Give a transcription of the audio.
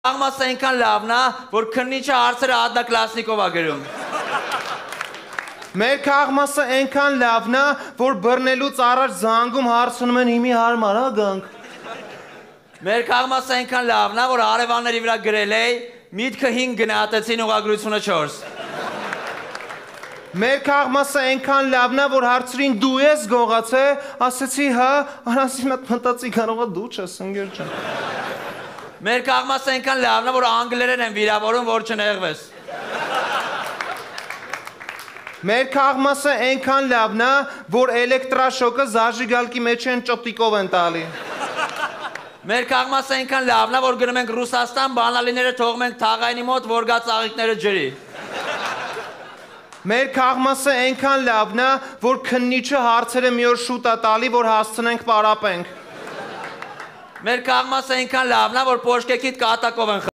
Աղմասը այնքան լավն է, որ քննիչը հարցերը ադնակլասնիկով է գրում։ Մեր քաղմասը այնքան լավն է, որ բռնելուց առաջ զանգում հարցնում են հիմի հարմար, հա գանք։ Մեր քաղմասը այնքան լավն է, որ հարևանների վրա գրել է, միտքը 5 գնահատեցին ուղղագրությունը 4։ Մեր քաղմասը այնքան լավն է, որ հարցրին դու ես գողացե, ասեցի հա, առանցին մատ մտածի կարող է դու չես ընկեր ջան։ Մեր քաղմասը այնքան լավն է, որ անգլերեն են վիրավորում, որ չնեղվես։ Մեր քաղմասը այնքան լավն է, որ էլեկտրաշոկը զաժիգալքի մեջ են ճոտիկով են տալի։ Մեր քաղմասը այնքան լավն է, որ գնում ենք Ռուսաստան, բանալիները թողում ենք թաղայինի մոտ, որ գա ծաղիկները ջրի։ Մեր քաղմասը այնքան լավն է, որ քննիչը հարցերը մի օր շուտ է տալի, որ հասցնենք պարապենք։ Մեր քաղմասը այնքան լավն է, որ պոշկեքիդ կատակով են